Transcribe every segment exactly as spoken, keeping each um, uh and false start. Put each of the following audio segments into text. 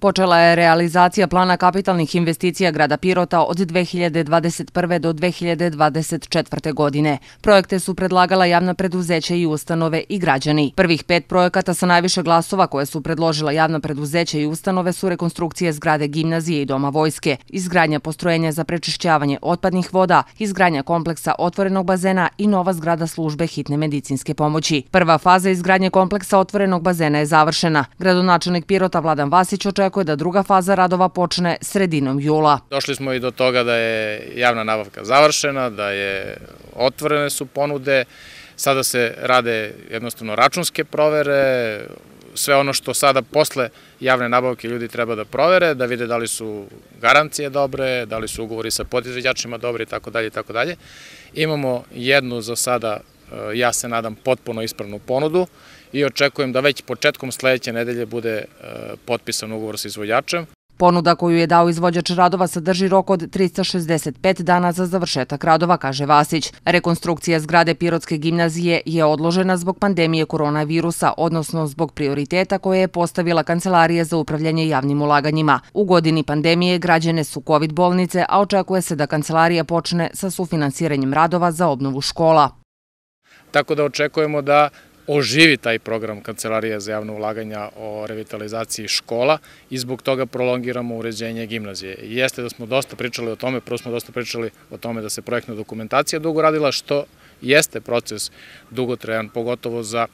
Počela je realizacija plana kapitalnih investicija grada Pirota od dve hiljade dvadeset prve. do dve hiljade dvadeset četvrte. godine. Projekte su predlagala javna preduzeća i ustanove i građani. Prvih pet projekata sa najviše glasova koje su predložila javna preduzeća i ustanove su rekonstrukcije zgrade gimnazije i doma vojske, izgradnja postrojenja za prečišćavanje otpadnih voda, izgradnja kompleksa otvorenog bazena i nova zgrada službe hitne medicinske pomoći. Prva faza izgradnje kompleksa otvorenog bazena je završena. Gradonačelnik Pirota Vladan Vasić očekuje da druga faza radova počne sredinom jula. Došli smo i do toga da je javna nabavka završena, da je otvorene su ponude, sada se rade jednostavno računske provere, sve ono što sada posle javne nabavke ljudi treba da provere, da vide da li su garancije dobre, da li su ugovori sa podizvođačima dobri i tako dalje i tako dalje. Imamo jednu za sada, ja se nadam, potpuno ispravnu ponudu i očekujem da već početkom sledeće nedelje bude potpisan ugovor sa izvođačem. Ponuda koju je dao izvođač radova sadrži rok od trista šezdeset pet dana za završetak radova, kaže Vasić. Rekonstrukcija zgrade Pirotske gimnazije je odložena zbog pandemije koronavirusa, odnosno zbog prioriteta koje je postavila Kancelarija za upravljanje javnim ulaganjima. U godini pandemije građene su kovid bolnice, a očekuje se da Kancelarija počne sa sufinansiranjem radova za obnovu škola. Tako da očekujemo da oživi taj program Kancelarije za javno ulaganja o revitalizaciji škola i zbog toga prolongiramo uređenje gimnazije. Jeste da smo dosta pričali o tome, prvo smo dosta pričali o tome da se projektna dokumentacija dugo radila, što jeste proces dugotrajan, pogotovo za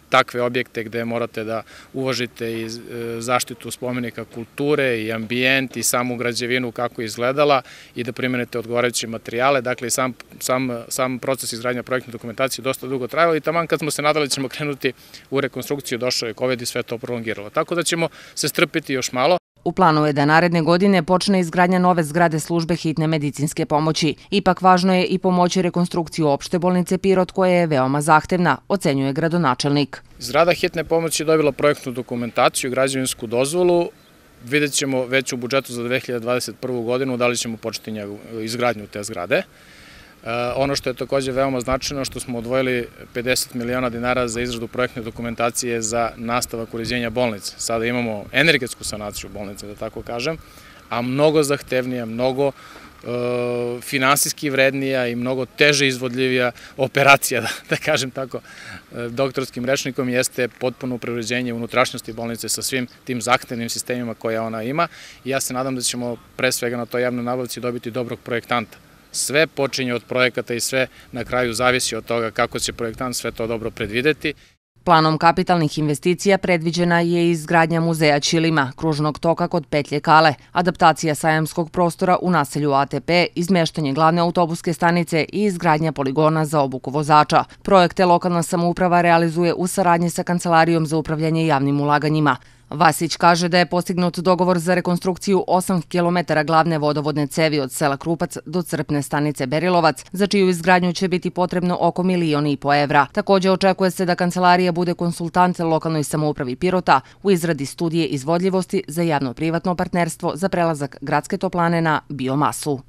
takve objekte gde morate da uvažite i zaštitu spomenika kulture i ambijent i samu građevinu kako je izgledala i da primenite odgovarajuće materijale. Dakle, sam, sam, sam proces izgradnja projektne dokumentacije dosta dugo trajalo i taman kad smo se nadali ćemo krenuti u rekonstrukciju, došao je kovid i sve to prolongiralo. Tako da ćemo se strpiti još malo. U planu je da naredne godine počne izgradnja nove zgrade službe hitne medicinske pomoći. Ipak važno je i pomoći rekonstrukciju opšte bolnice Pirot koja je veoma zahtevna, ocenjuje gradonačelnik. Zgrada hitne pomoći je dobila projektnu dokumentaciju i građevinsku dozvolu. Vidjet ćemo već u budžetu za dve hiljade dvadeset prvu. godinu da li ćemo početi izgradnju te zgrade. Ono što je takođe veoma značajno, što smo odvojili pedeset miliona dinara za izradu projektne dokumentacije za nastavak uređenja bolnice. Sada imamo energetsku sanaciju bolnice, da tako kažem, a mnogo zahtevnija, mnogo finansijski vrednija i mnogo teže izvodljivija operacija, da kažem tako, doktorskim rečnikom, jeste potpuno preuređenje unutrašnjosti bolnice sa svim tim zahtevnim sistemima koje ona ima i ja se nadam da ćemo pre svega na toj javnoj nabavci dobiti dobrog projektanta. Sve počinje od projekata i sve na kraju zavisi od toga kako će projektant sve to dobro predvideti. Planom kapitalnih investicija predviđena je izgradnja muzeja Ćilima, kružnog toka kod Petlje Kale, adaptacija sajamskog prostora u naselju A T P, izmeštanje glavne autobuske stanice i izgradnja poligona za obuku vozača. Projekte lokalna samouprava realizuje u saradnji sa Kancelarijom za upravljanje javnim ulaganjima. Vasić kaže da je postignut dogovor za rekonstrukciju osam kilometara glavne vodovodne cevi od sela Krupac do crpne stanice Berilovac, za čiju izgradnju će biti potrebno oko milion i po evra. Takođe očekuje se da Kancelarija bude konsultant lokalnoj samoupravi Pirota u izradi studije izvodljivosti za javno-privatno partnerstvo za prelazak gradske toplane na biomasu.